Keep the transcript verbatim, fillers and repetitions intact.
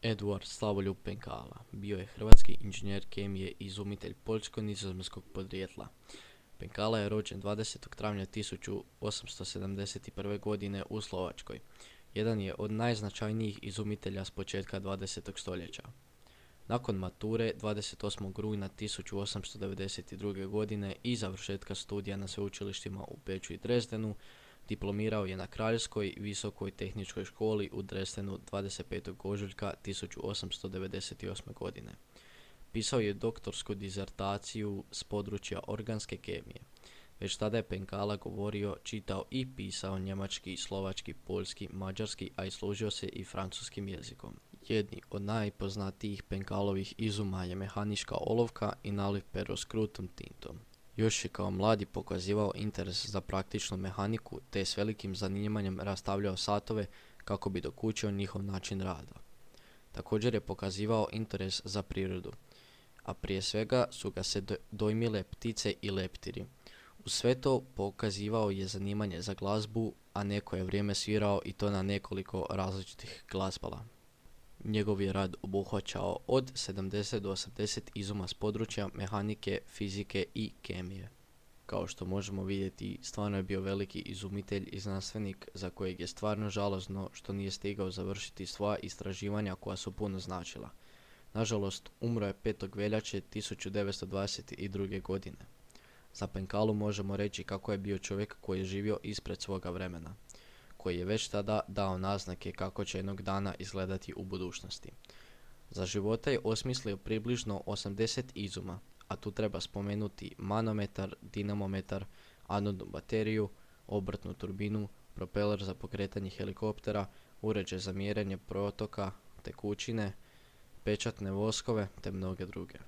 Eduard Slavoljub Penkala bio je hrvatski inženjer kemije i izumitelj poljsko-nizozemskog podrijetla. Penkala je rođen dvadesetog travnja tisuću osamsto sedamdeset prve. godine u Slovačkoj. Jedan je od najznačajnijih izumitelja s početka dvadesetog stoljeća. Nakon mature dvadeset osmog rujna tisuću osamsto devedeset druge. godine i završetka studija na sveučilištima u Beču i Dresdenu, diplomirao je na Kraljevskoj visokoj tehničkoj školi u Dresdenu dvadeset petog ožujka tisuću osamsto devedeset osme. godine. Pisao je doktorsku dizertaciju s područja organske kemije. Već tada je Penkala govorio, čitao i pisao njemački, slovački, poljski, mađarski, a i služio se i francuskim jezikom. Jedni od najpoznatijih Penkalovih izuma je mehanička olovka i naliv pero s krutom tintom. Još je kao mladi pokazivao interes za praktičnu mehaniku te je s velikim zanimanjem rastavljao satove kako bi dokučio njihov način rada. Također je pokazivao interes za prirodu, a prije svega su ga se dojmile ptice i leptiri. Uz sve to pokazivao je zanimanje za glazbu, a neko je vrijeme svirao i to na nekoliko različitih glazbala. Njegov je rad obuhvaćao od sedamdeset do osamdeset izuma s područja mehanike, fizike i kemije. Kao što možemo vidjeti, stvarno je bio veliki izumitelj i znanstvenik za kojeg je stvarno žalosno što nije stigao završiti svoja istraživanja koja su puno značila. Nažalost, umro je petog veljače tisuću devetsto dvadeset druge. godine. Za Penkalu možemo reći kako je bio čovjek koji je živio ispred svoga vremena, koji je već tada dao naznake kako će jednog dana izgledati u budućnosti. Za života je osmislio približno osamdeset izuma, a tu treba spomenuti manometar, dinamometar, anodnu bateriju, obrtnu turbinu, propeler za pokretanje helikoptera, uređaj za mjerenje protoka tekućine, pečatne voskove te mnoge druge.